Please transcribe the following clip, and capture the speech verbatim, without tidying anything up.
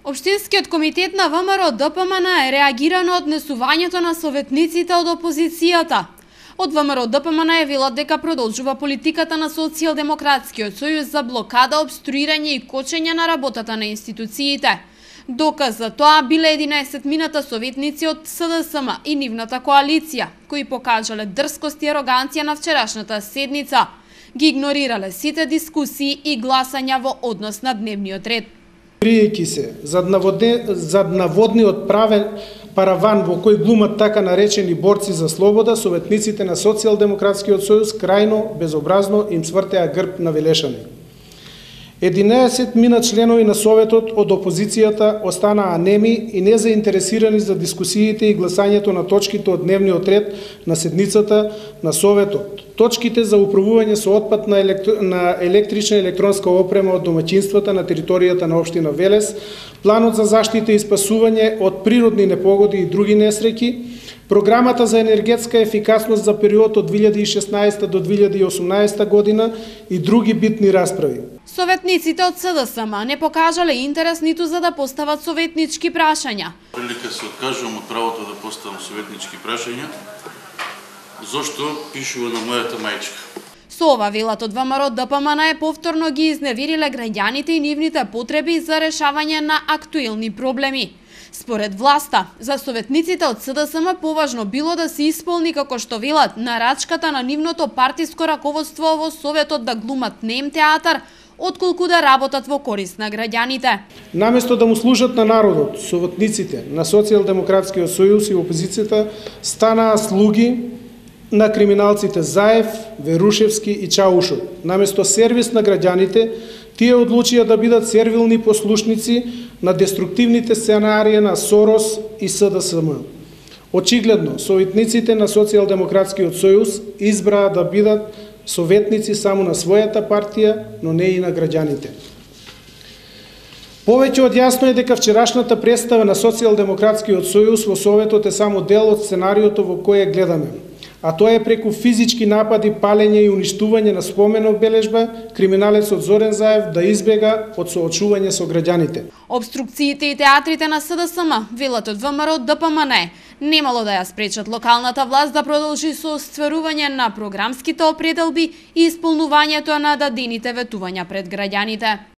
Општинскиот комитет на ВМРО Д П М Н е реагира на однесувањето на советниците од опозицијата. Од ВМРО Д П М Н е велат дека продолжува политиката на Социјалдемократскиот сојуз за блокада, обструирање и кочење на работата на институциите. Доказ за тоа биле единаесет мината советници од С Д С М и нивната коалиција, кои покажале дрскост и ароганција на вчерашната седница. Ги игнорирале сите дискусии и гласања во однос на дневниот ред. Криејќи се зад, наводне, зад наводниот правен параван во кој глумат така наречени борци за слобода, советниците на Социјалдемократскиот сојуз крајно безобразно им свртеа грб на велешани. единаесет мина членови на Советот од опозицијата останаа неми и незаинтересирани за дискусиите и гласањето на точките од дневниот ред на седницата на Советот. Точките за управување со отпад на, електро... на електрична и електронска опрема од домаќинствата на територијата на општина Велес, планот за заштита и спасување од природни непогоди и други несреќи, програмата за енергетска ефикасност за период од две илјади и шеснаесета до две илјади и осумнаесета година и други битни расправи. Советниците од С Д С М не покажале интерес ниту за да постават советнички прашања. Прилика се откажувам од правото да поставам советнички прашања, зошто пишува на мојата мајчка. Со ова велат од ВМРО Д П М Н е повторно ги изневириле граѓаните и нивните потреби за решавање на актуелни проблеми. Според власта, за советниците од С Д С М поважно било да се исполни, како што велат, нарачката на нивното партиско раководство во Советот да глумат нем театар, отколку да работат во корист на граѓаните. Наместо да му служат на народот, советниците на Социјалдемократскиот сојуз и опозицијата станаа слуги на криминалците Заев, Верушевски и Чаушов. Наместо сервис на граѓаните, тие одлучија да бидат сервилни послушници на деструктивните сценарии на Сорос и С Д С М. Очигледно, советниците на Социјалдемократскиот сојуз избраа да бидат советници само на својата партија, но не и на граѓаните. Повеќе од јасно е дека вчерашната представа на Социјалдемократскиот сојуз во Советот е само дел од сценариото во кое гледаме, а тоа е преку физички напади, палење и уништување на спомен обележба, криминалецот Зорен Заев да избега од соочување со граѓаните. Обструкциите и театрите на С Д С М, велат од ВМРО Д П М Н, немало да ја спречат локалната власт да продолжи со остварување на програмските определби и исполнувањето на дадените ветувања пред граѓаните.